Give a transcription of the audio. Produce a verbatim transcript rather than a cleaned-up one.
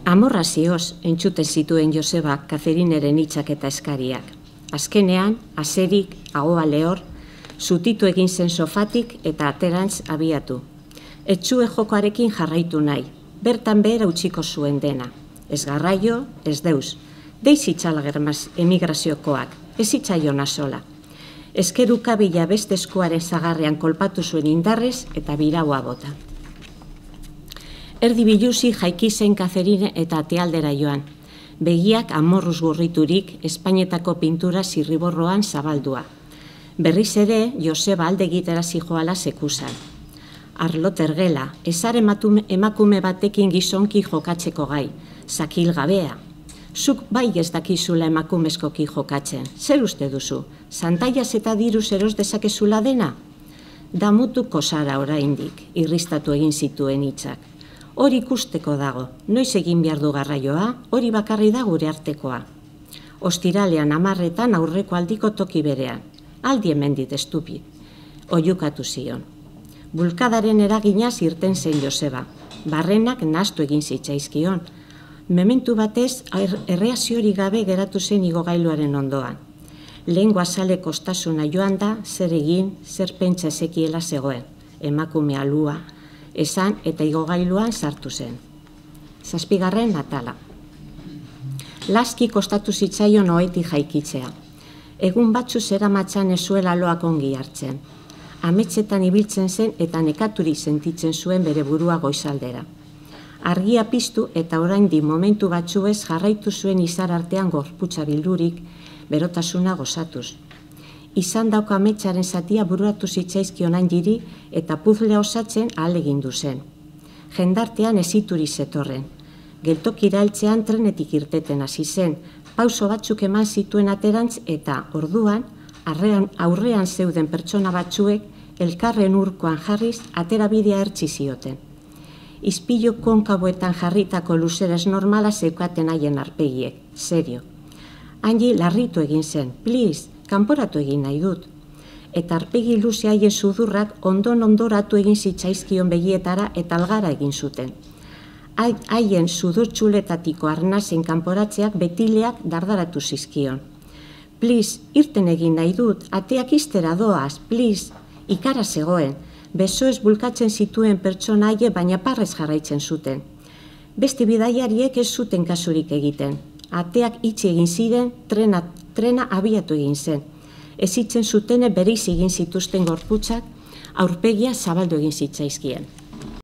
Amorrazioz entzuten zituen Josebak Katerineren hitzak eta eskariak. Azkenean, aserik, ahoa lehor, zutitu egin zen sofatik eta aterantz abiatu. Etxue jokoarekin jarraitu nahi, bertan behera utziko zuen dena. Ez garraio, ez deus. Deiz itxala germaz emigraziokoak, ez itxaiona sola. Ezkeruka bila beste eskuaren zagarrean kolpatu zuen indarrez eta biraua bota. Erdi biluzi jaiki zen Katerine eta atealdera joan. Begiak amorruz gurriturik Espainetako pintura zirriborroan zabaldua. Berriz ere, Joseba alde egitera zijoala sekusan. Arlo tergela, ezar emakume batekin gizonki jokatzeko gai, zakil gabea. Zuk bai ez dakizula emakumezkoki jokatzen, zer uste duzu? Santaiaz eta diruz eros dezakezula dena? Damutuko zara oraindik, irristatu egin zituen hitzak. Hori ikusteko dago, noiz egin behar du garraioa, hori bakarri da gure artekoa. Ostiralean hamarretan aurreko aldiko toki berean, aldi hemendit estupi, oiukatu zion. Bulkadaren eraginaz irten zen Joseba, barrenak nahastu egin zitzaizkion. Mementu batez erreaziorik gabe geratu zen igogailuaren ondoan. Lehengo azale kostasuna joan da, zer egin, zer pentsa ezekiela zegoen, emakume alua, esan eta igogailuan sartu zen. Zazpigarren atala. Laski kostatu zitzaion ohetik jaikitzea. Egun batzu zeramatzan ez zuela loak ongi hartzen. Ametsetan ibiltzen zen eta nekaturik sentitzen zuen bere burua goizaldera. Argia piztu eta oraindik momentu batzuez jarraitu zuen izar artean gorputza bildurik, berotasuna gozatuz. Izan dauka ametsaren zatia bururatu zitzaizkion handiri eta puzlea osatzen ahalegindu zen. Jendartean ezituri zetorren. Geltokira heltzean trenetik irteten hasi zen, pauso batzuk eman zituen aterantz eta orduan aurrean zeuden pertsona batzuek elkarren urkoan jarriz aterabidea ertzi zioten. Izpilu konkaboetan jarritako luzeres normala zeukaten haien arpegiek, serio. Handi larritu egin zen, please, kanporatu egin nahi dut. Eta arpegi luze haien sudurrak ondon ondoratu egin zitzaizkion begietara eta algara egin zuten. Haien sudurtxuletatiko arnazen kanporatzeak betileak dardaratu zizkion. Please, irten egin nahi dut, ateak iztera doaz, please, ikara zegoen. Besoez bulkatzen zituen pertsona haie baina parrez jarraitzen zuten. Beste bidaiariek ez zuten kasurik egiten. Ateak itxi egin ziren, trena, trena abiatu egin zen. Ez itzen zutene bereiz egin zituzten gorputzak, aurpegia zabaldu egin zitzaizkien.